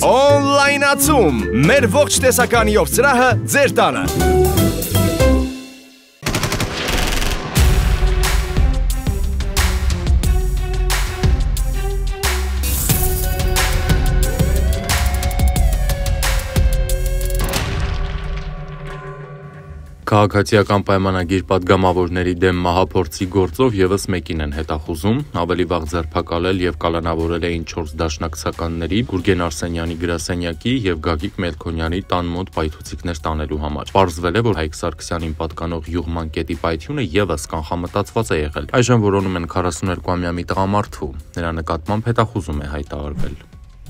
Օնլայնացում, մեր ողջ տեսականիով սրահը ձեր տանը։ Քաղաքացիական պայմանագիր պատգամավորների դեմ մահափորձի գործով ևս մեկին են հետախուզում, ավելի վաղ ձերբակալել եւ կալանավորել էին 4 դաշնակցականների Գուրգեն Արսենյանի գրասենյակի եւ Գագիկ Մելքոնյանի տան մոտ պայթուցիկներ տանելու համար։ Պարզվել է, որ Հայկ Սարգսյանին պատկանող յուղման կետի պայթյունը ևս կանխամտածված է եղել։ Այժմ որոնում են 42-ամյա մի տղամարդու։ Նրա նկատմամբ հետախուզում է հայտարարվել։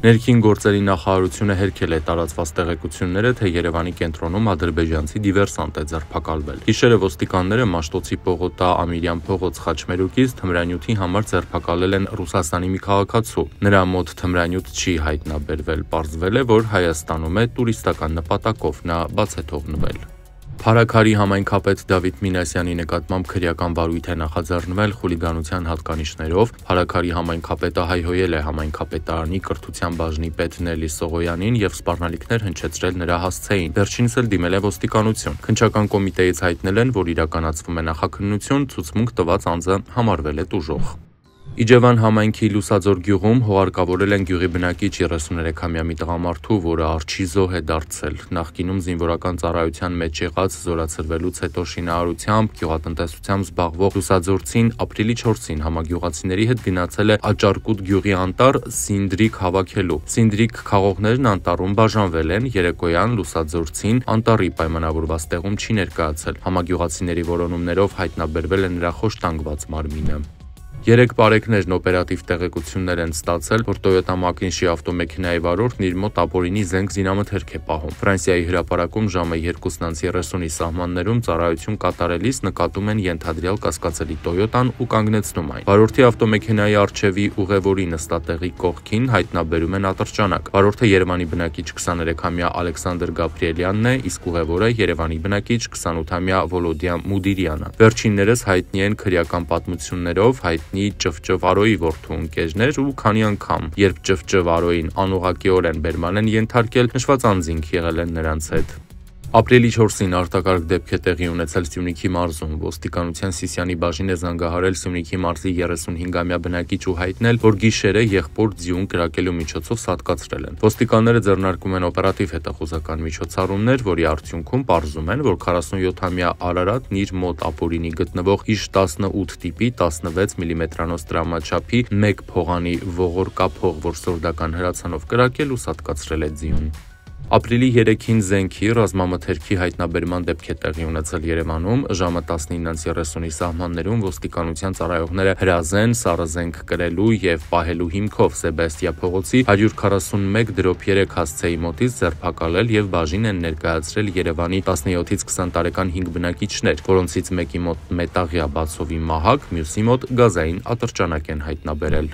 Ներքին գործերի նախարարությունը հերքել է տարածված տեղեկությունները, թե Երևանի կենտրոնում ադրբեջանցի դիվերսանտ է ձերբակալվել։ Գիշերը ոստիկանները Մաշտոցի Պողոտա Ամիրյան փողոց Խաչմերուկից թմրանյութի համար ձերբակալել են Ռուսաստանի մի քաղաքացու։ Նրա մոտ թմրանյութ չի հայտնաբերվել, պարզվել է, որ Հայաստանում է տուրիստական նպատակով, նա բաց է թողնվել։ Փարաքարի համայնքապետ Դավիթ Մինասյանի նկատմամբ քրեական վարույթ է նախաձեռնվել խուլիգանության հատկանիշներով։ Փարաքարի համայնքապետը հայհոյել է համայնքապետարանի կրթության բաժնի պետ Նելի Սողոյանին եւ սպառնալիքներ հնչեցրել նրա հասցեին։ Վերջինս էլ դիմել է ոստիկանություն։ Քննչական կոմիտեից հայտնել են, որ իրականացվում է նախաքննություն, ցուցմունք տված անձը համարվել է տուժող։ Իջևան համայնքի Լուսաձոր գյուղում հողարկավորել են գյուղի բնակիչ 33-ամյա մի տղամարդու, որը արջի զոհ է դարձել։ Նախկինում զինվորական ծառայության մեջ եղած զորացրվելուց հետո շինարարությամբ, գյուղատնտեսությամբ զբաղվող լուսաձորցին ապրիլի 4-ին համագյուղացիների հետ գնացել է Աճարկուտ գյուղի անտառ սինդրիկ հավաքելու։ Սինդրիկ խաղողներն անտառում բաժանվել են, երեկոյան լուսաձորցին անտառի պայմանավորված տեղում չի ներկայացել։ Համագյուղացիների որոնումներով հայտնաբերվել է նրա խոշտանգված մարմինը։ 3 բարեկներն օպերատիվ տեղեկություններ են ստացել, որ Toyota Makinshi ավտոմեքենայի վարորդն իր մոտ ապօրինի զենք զինամթերք է պահում։ Ֆրանսիայի հրապարակում ժամը 2:30-ի սահմաններում ծառայություն կատարելիս նկատում են ենթադրյալ կասկածելի Toyota-ն ու կանգնեցնում այն։ Վարորդի ավտոմեքենայի առջևի ուղևորի նստատեղի կողքին հայտնաբերում են ատրճանակ։ Վարորդը Երևանի բնակիչ 23-ամյա Ալեքսանդր Գաբրիելյանն է, իսկ ուղևորը Երևանի բնակիչ 28-ամյա Վոլոդիա Մուդիրյանը։ Վերջիններս հայտնի են քրեական պատմություններով, Ճվճվարոյի որդու ընկերներ ու քանի անգամ, երբ Ճվճվարոյին անուղղակիորեն բերման են ենթարկել, նշված անձինք եղել են նրանց հետ։ Ապրիլի 4-ին արտակարգ դեպք է տեղի ունեցել Սյունիքի մարզում։ Ոստիկանության Սիսիանի բաժին է զանգահարել Սյունիքի մարզի 35-ամյա բնակիչ ու հայտնել, որ գիշերը եղբոր ձյուն կրակելու միջոցով սատկացրել են։ Ոստիկանները ձեռնարկում են օպերատիվ հետախուզական միջոցառումներ, որի արդյունքում պարզում են, որ 47-ամյա Արարատն իր մոտ ապօրինի գտնվող ԻՇ-18 տիպի 16 մմ-անոց տրամաչափի 1 փողանի ողոր կափող, որ սորդական հրացանով կրակել ու սատկացրել է ձյուն։ Ապրիլի 3-ին զենքի ռազմամթերքի հայտնաբերման դեպք է տեղի ունեցել Երևանում։ Ժամը 19:30-ի սահմաններում ոստիկանության ծառայողները հրազեն, սառը զենք կրելու եւ պահելու հիմքով Սեբաստիա փողոցի 141/3 հասցեի մոտից ձերբակալել եւ բաժին են ներկայացրել Երևանի 17-ից 20 տարեկան 5 բնակիչներ, որոնցից մեկի մոտ մետաղյա բացովի մահակ, մյուսի մոտ գազային ատրճանակ են հայտնաբերել։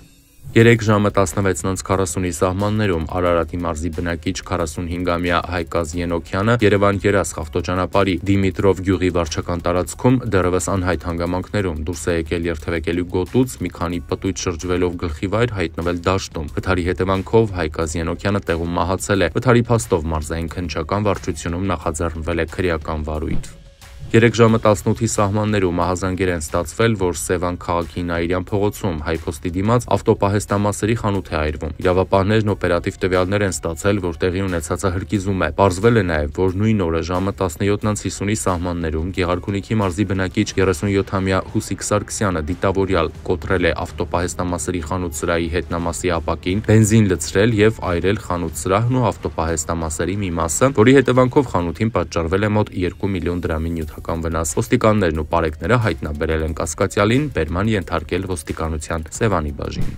3 ժամը 16:40-ի սահմաններում Արարատի մարզի բնակիչ 45-ամյա Հայկազ Ենոքյանը Երևան-Երասխ ավտոճանապարհի Դիմիտրով գյուղի վարչական տարածքում դեռևս անհայտ հանգամանքներում դուրս է եկել երթևեկելու գոտուց, մի քանի պտույտ շրջվելով գլխիվայր հայտնվել դաշտում։ Վթարի հետևանքով Հայկազ Ենոքյանը տեղում մահացել է։ Վթարի փաստով մարզային քննչական վարչությունում նախաձեռնվել է քրեական վարույթ։ 3 ժամը 18-ի սահմաններում մահազանգեր են ստացվել, որ Սևան քաղաքի Նաիրյան փողոցում հայփոստի դիմաց ավտոպահեստամասերի խանութ է այրվում։ Իրավապահներն օպերատիվ տվյալներ են ստացել, որ տեղի ունեցածը հրկիզում է։ Պարզվել է նաև, որ նույն օրը ժամը 17:50-ի սահմաններում Գեղարքունիքի մարզի բնակիչ 37-ամյա Հուսիկ Սարգսյանը դիտավորյալ կոտրել է ավտոպահեստամասերի խանութ սրահի հետնամասի ապակին, բենզին լցրել եւ այրել խանութ սրահն ու ավտոպահեստամասերի մի մասը, որի հետևանքով խանութին պատճառվել է մոտ 2 միլիոն դրամի վնաս։ Ոստիկաններն ու պարեկները հայտնաբերել են կասկածյալին, բերման ենթարկել ոստիկանության Սևանի բաժին։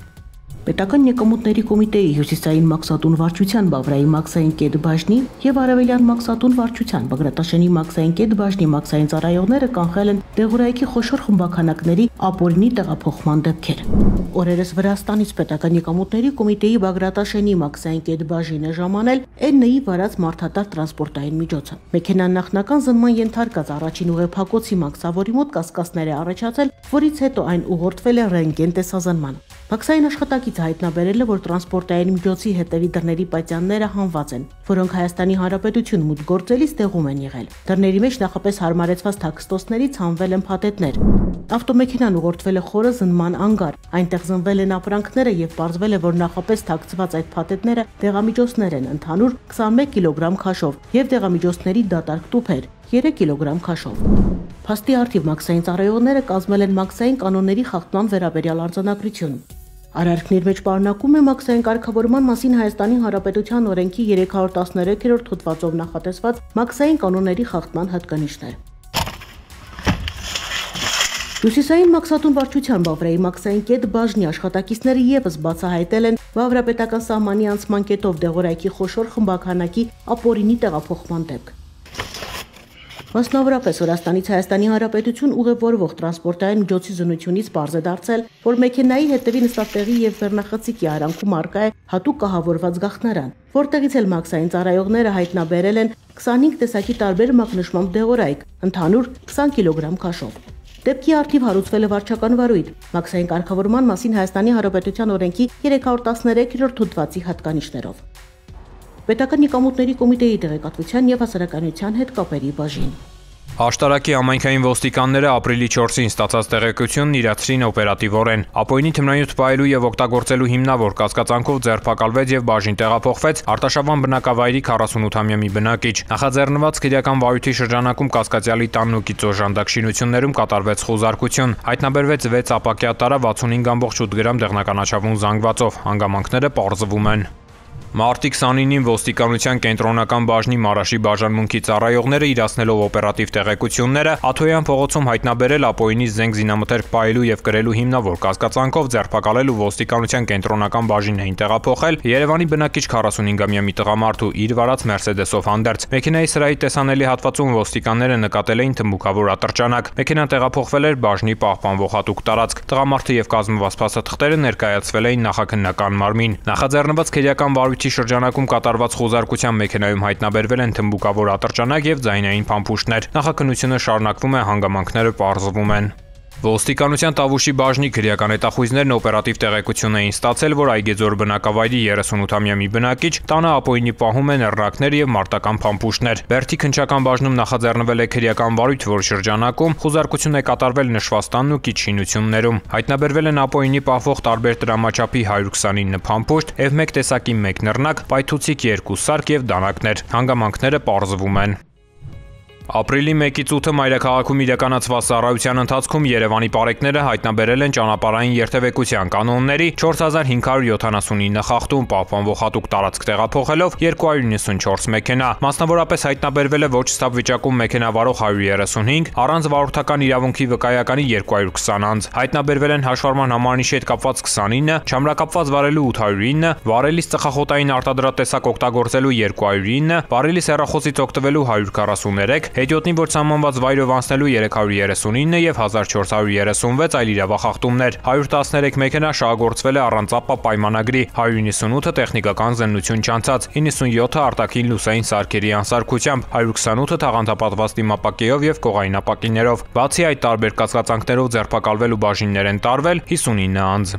Պետական եկամուտների կոմիտեի հյուսիսային մաքսատուն վարչության Բավրայի մաքսային կետ բաժնի եւ Արևելյան մաքսատուն վարչության Բագրատաշենի մաքսային կետ բաժնի մաքսային ծառայողները կանխել են դեղորայքի խոշոր խմբաքանակների ապօրինի տեղափոխման դեպքեր։ Օրերս Վրաստանից պետական եկամուտների կոմիտեի Բագրատաշենի մաքսային կետ բաժինը ժամանել N-ի վարած մարդատար տրանսպորտային միջոցը։ Մեքենան նախնական զննման ենթարկած առաջին ուղեփակոցի մաքսավորի մոտ կասկածներ է առաջացել, որից հետո այն ուղղորդվել է ռենտգեն տեսազնման։ Մաքսային աշխատակիցը հայտնաբերել է, որ տրանսպորտային միջոցի հետևի դռների պատյանները հանված են, որոնք Հայաստանի Հանրապետություն մուտք գործելիս տեղում են եղել։ Դռների մեջ նախապես հարմարեցված թաքստոցներից հանվել են փաթեթներ։ Ավտոմեքենան ուղղորդվել է խորը զննման անգար, այնտեղ զնվել են ապրանքները եւ պարզվել է, որ նախապես թաքցված այդ փաթեթները դեղամիջոցներ են ընդհանուր 21 կիլոգրամ քաշով եւ դեղամիջոցների դատարկ տուփեր 3 կիլոգրամ քաշով։ Փաստի առթիվ մաքսային ծառայողները կազմել են մաքսային կանոնների խախտման վերաբերյալ արձանագրություն։ Արարքների մեջ պարունակում է մաքսային կարգավորման մասին Հայաստանի Հանրապետության օրենքի 313-րդ հոդվածով նախատեսված մաքսային կանոնների խախտման հատկանիշներ։ Հյուսիսային մաքսատուն վարչության Բավրայի մաքսային կետ բաժնի աշխատակիցները եւս բացահայտել են Բավրապետական սահմանի անցման կետով դեղորայքի խոշոր խմբականակի ապօրինի տեղափոխման դեպք։ Մասնավորապես Վրաստանից Հայաստանի Հանրապետություն ուղևորվող տրանսպորտային միջոցի զննությունից պարզ է դարձել, որ մեքենայի հետևի նստատեղի եւ վերնախցիկի արանքում առկա է հատուկ կահավորված գաղտնարան, որտեղից էլ մաքսային ծառայողները հայտնաբերել են 25 տեսակի տարբեր մակնշմամբ դեղորայք, ընդհանուր 20 կիլոգրամ քաշով։ Դեպքի առթիվ հարուցվել է վարչական վարույթ մաքսային կարգավորման մասին Հայաստանի Հանրապետության օրենքի 313-րդ հոդվածի հատկանիշներով։ Պետական եկամուտների կոմիտեի տեղեկատվության եւ հասարակայնության հետ կապերի բաժին։ Աշտարակի համայնքային ոստիկանները ապրիլի 4-ին ստացած տեղեկությունն իրացրին օպերատիվորեն։ Ապօրինի թմրանյութ պահելու եւ օգտագործելու հիմնավոր կասկածանքով ձերբակալվեց եւ բաժին տեղափոխվեց Արտաշավան բնակավայրի 48-ամյա մի բնակիչ։ Նախաձեռնված քրեական վարույթի շրջանակում կասկածյալի տանն ու գիծո ժանդակ շինություններում կատարվեց խոզարկություն։ Հայտնաբերվեց 6 ապակյա տարա 65.8 գրամ դեղնականաչավուն զանգվածով։ Հանգամանքները պարզվում են։ Մարտի 29-ին ոստիկանության կենտրոնական բաժնի Մարաշի բաժանմունքի ծառայողները իրացնելով օպերատիվ տեղեկությունները Աթոյան փողոցում հայտնաբերել ապօրինի զենք զինամթերք պահելու եւ կրելու հիմնավոր կասկածանքով ձերբակալել ու ոստիկանության կենտրոնական բաժին էին տեղափոխել Երևանի բնակիչ 45-ամյա մի տղամարդու իր վարած Մերսեդեսով հանդերձ։ Մեքենայի սրահի տեսանելի հատվածում ոստիկանները նկատել էին թմբուկավոր ատրճանակ։ Մեքենան տեղափոխվել էր բաժնի պահպանվող հատուկ տարածք։ Տղամարդը եւ կազմված փաստաթղթերը ներկայացվել էին նախաքննական մարմին։ Նախաձեռնված քրեական վարույթի շրջանակում կատարված խոզարկության մեքենայում հայտնաբերվել են թմբուկավոր ատրճանակ եւ ձայնային փամփուշտներ։ Նախաքննությունը շարունակվում է, հանգամանքները պարզվում են։ Ոստիկանության Տավուշի բաժնի քրեական հետախույզներն օպերատիվ տեղեկություն էին ստացել, որ Այգեձոր բնակավայրի 38-ամյա մի բնակիչ տանը ապօրինի պահում են էռնակներ եւ մարտական փամփուշտներ։ Բերդի քննչական բաժնում նախաձեռնվել է քրեական վարույթ, որ շրջանակում խոզարկություն է կատարվել նշված տանն ու կիչինություններում։ Հայտնաբերվել են ապօրինի պահվող տարբեր տրամաչափի 129 փամփուշտ, F1 տեսակի 1 նռնակ, պայթուցիկ 2 սարք եւ դանակներ։ Հանգամանքները պարզվում են։ Ապրիլի 1-ից 8-ը մայրաքաղաքում իրականացված ծառայության ընթացքում Երևանի պարեկները հայտնաբերել են ճանապարհային երթևեկության կանոնների 4579 խախտում, պահպանվող հատուկ տարածք տեղափոխելով 294 մեքենա։ Մասնավորապես հայտնաբերվել է ոչ ստապ վիճակում մեքենա վարող 135, առանց վարորդական իրավունքի վկայականի 220 անձ։ Հայտնաբերվել են հաշվառման համարնիշի հետ կապված 29, չամրակապված վարելու 809, վարելիս ծխախոտային արտադրատեսակ օգտագործելու 209, վարելիս հեռախոսից օգտվելու 143, հետիոտնի որ սահմանված վայրով անցնելու 339 եւ 1436 այլ իրավախախտումներ, 113 մեքենա շահագործվել է առանց ԱՊԱ պայմանագրի, 198-ը տեխնիկական զննություն չանցած, 97-ը արտաքին լուսային սարքերի անսարքությամբ, 128-ը թաղանթապատված դիմապակեով եւ կողային ապակիներով։ Բացի այդ տարբեր կասկածանքներով ձերբակալվել ու բաժիններ են տարվել 59 անձ։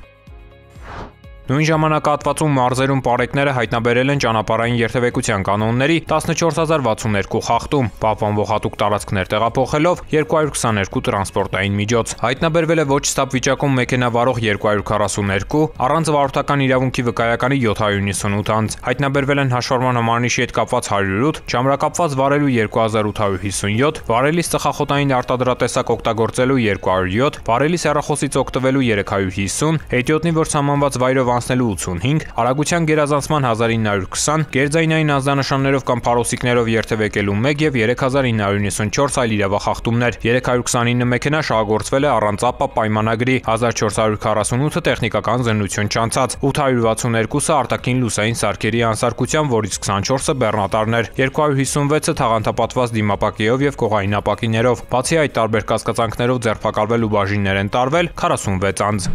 Նույն ժամանակահատվածում մարզերում պարեկները հայտնաբերել են ճանապարհային երթևեկության կանոնների 14062 խախտում, պահպանվող հատուկ տարածքներ տեղափոխելով 222 տրանսպորտային միջոց։ Հայտնաբերվել է ոչ ստապ վիճակում մեքենա վարող 242, առանց վարորդական իրավունքի վկայականի 798 անձ։ Հայտնաբերվել են հաշվառման համարնիշի հետ կապված 108, չամրակապված վարելու 2857, վարելիս ծխախոտային արտադրատեսակ օգտագործելու 207, վարելիս հեռախոսից օգտվելու 350, հետիոտնի որ սահմանված վայրով անցնելու 85, արագության գերազանցման 1920, գերձայնային ազդանշաններով կամ փարոսիկներով երթևեկելու 1 եւ 3994 այլ իրավախախտումներ, 329 մեքենա շահագործվել է առանց ԱՊԱ պայմանագրի, 1448-ը տեխնիկական զննություն չանցած, 862-ը արտաքին լուսային սարքերի անսարքությամբ, որից 24-ը բեռնատարներ, 256-ը թաղանթապատված դիմապակեով եւ կողային ապակիներով։ Բացի այդ տարբեր կասկածանքներով ձերբակալվել ու բաժիններ են տարվել 46 անձ։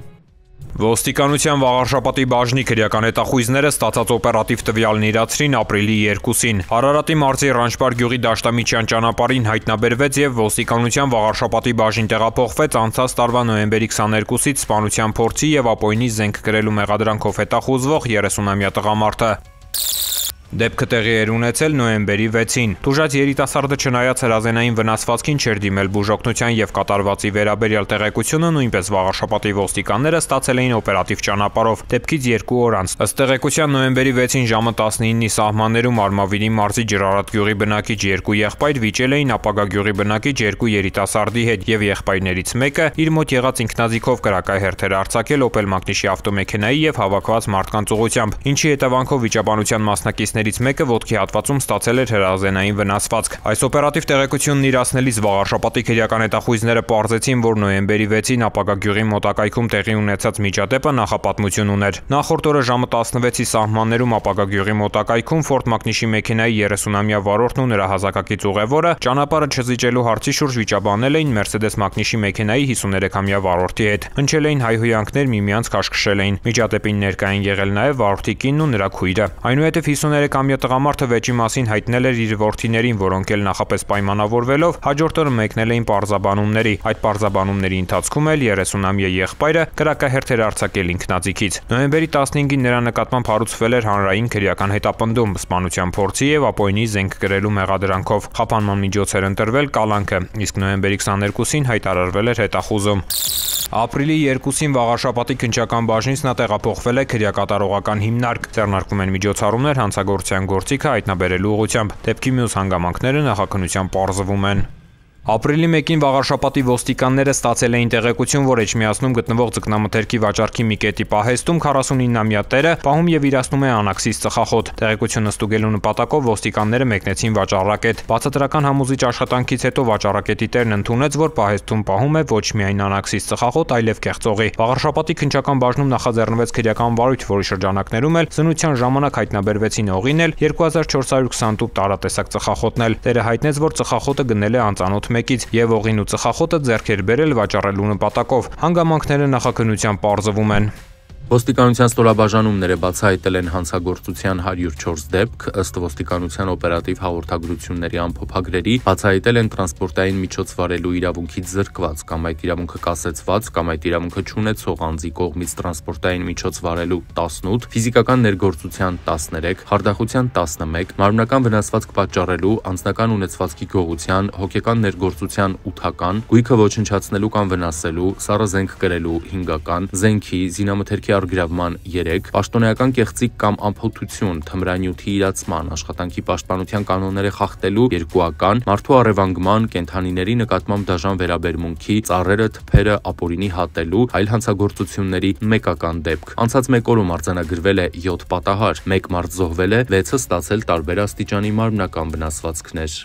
Ոստիկանության Վաղարշապատի բաժնի քրեական հետախույզները ստացած օպերատիվ տվյալն իրացրին ապրիլի 2-ին։ Արարատի մարզի Ռանչպար գյուղի Դաշտամիջյան ճանապարհին հայտնաբերվեց եւ ոստիկանության Վաղարշապատի բաժին տեղափոխվեց անցած տարվա նոյեմբերի 22-ից սպանության փորձի եւ ապօրինի զենք կրելու մեղադրանքով հետախուզվող 30-ամյա տղամարդը։ Դեպքը տեղի էր ունեցել նոյեմբերի 6-ին։ Տուժած երիտասարդը չնայած հրազենային վնասվածքին չէր դիմել բուժօգնության եւ կատարվածի վերաբերյալ տեղեկությունը նույնպես Վաղարշապատի ոստիկանները ստացել էին օպերատիվ ճանապարհով դեպքից 2 օր անց։ Ըստ տեղեկության նոյեմբերի 6-ին ժամը 19-ի սահմաններում Արմավիրի մարզի Ջրարատ գյուղի բնակիչ 2 եղբայր վիճել էին ապագա գյուղի բնակիչ 2 երիտասարդի հետ եւ եղբայրներից մեկը իր մոտ եղած ինքնաձիգով կրակահերթեր արձակել Opel Magnish-ի ավտոմեքենայի եւ հավաքված մարդկանց ուղղությամբ, ինչի հետևանքով վիճաբանության մասնակիցներից մեկը ոտքի հատվածում ստացել էր հրազենային վնասվածք։ Այս օպերատիվ տեղեկությունն իրացնելիս Վաղարշապատի քրեական հետախույզները պարզեցին, որ նոյեմբերի 6-ին ապագա գյուղի մոտակայքում տեղի ունեցած միջադեպը նախապատմություն ուներ։ Նախորդ օրը ժամը 16-ի սահմաններում ապագա գյուղի մոտակայքում Ford Magnish-ի մեքենայի 30-ամյա վարորդն ու նրա հասակակից ուղևորը ճանապարհը չզիջելու հարցի շուրջ վիճաբանել էին Mercedes Magnish-ի մեքենայի 53-ամյա վարորդի հետ։ Հնչել էին հայհոյանքներ, միմյանց քաշքշել էին։ Միջադեպին ներկա են եղել նաև վարորդի կինն ու նրա քույրը։ Այնուհետև 53-ամյա տղամարդը վեճի մասին հայտնել էր իր որդիներին, որոնք էլ նախապես պայմանավորվելով հաջորդ օրը մեկնել էին պարզաբանումների։ Այդ պարզաբանումների ընթացքում էլ 30-ամյա եղբայրը կրակահերթ էր արձակել ինքնաձիգից։ Նոյեմբերի 15-ին նրա նկատմամբ հարուցվել էր հանրային քրեական հետապնդում սպանության փորձի եւ ապօրինի զենք կրելու մեղադրանքով։ Խափանման միջոց էր ընտրվել կալանքը, իսկ նոյեմբերի 22-ին հայտարարվել էր հետախուզում։ Ապրիլի 2-ին Վաղարշապատի քննչական բաժնից նա տեղափոխվել է քրեակատարողական հիմնարկ։ Ձեռնարկվում են միջոցառումներ հանցագործության գործիքը հայտնաբերելու ուղղությամբ։ Դեպքի մյուս հանգամանքները նախաքննության պարզվում են։ Ապրիլի 1-ին Վաղարշապատի ոստիկանները ստացել էին տեղեկություն, որ Էջմիածնում գտնվող ձկնամթերքի վաճառքի մի կետի պահեստում 49-ամյա տերը պահում եւ իրացնում է անաքսիս ծխախոտ։ Տեղեկությունը ստուգելու նպատակով ոստիկանները մեկնեցին վաճառակետ։ Բացատրական համոզիչ աշխատանքից հետո վաճառակետի տերն ընդունեց, որ պահեստում պահում է ոչ միայն անաքսիս ծխախոտ, այլև կեղծողի։ Վաղարշապատի քննչական բաժնում նախաձեռնվեց քրեական վարույթ, որի շրջանակներում էլ զնության ժամանակ հայտնաբերվեցին օղին էլ 2428 տարատեսակ ծխախոտն էլ։ Տերը հայտնեց, որ ծխախոտը գնել է անծանոթ մեկից եւ օղին ու ծխախոտը ձեռք էր բերել վաճառելու նպատակով։ Հանգամանքները նախաքննության պարզվում են։ Ոստիկանության ստորաբաժանումները բացահայտել են հանցագործության 104 դեպք, ըստ ոստիկանության օպերատիվ հաղորդագրությունների ամփոփագրերի, բացահայտել են տրանսպորտային միջոց վարելու իրավունքից զրկված կամ այդ իրավունքը կասեցված կամ այդ իրավունքը չունեցող անձի կողմից տրանսպորտային միջոց վարելու 18, ֆիզիկական ներգործության 13, խարդախության 11, մարմնական վնասվածք պատճառելու, անձնական ունեցվածքի գողության, հոգեկան ներգործության 8-ական, գույքը ոչնչացնելու կամ վնասելու, սառը զենք կրելու 5-ական, զենքի, զինամթերքի արգրավման 3, պաշտոնեական կեղծիք կամ անփոթություն, թմրանյութի իրացման, աշխատանքի պաշտպանության կանոնները խախտելու 2-ական, մարդու առևանգման, կենդանիների նկատմամբ դաժան վերաբերմունքի, ծառերը, թփերը, ապօրինի հատելու, այլ հանցագործությունների 1-ական դեպք։ Անցած 1 օրում արձանագրվել է 7 պատահար, 1 մարդ զոհվել է, 6-ը ստացել տարբեր աստիճանի մարմնական վնասվածքներ։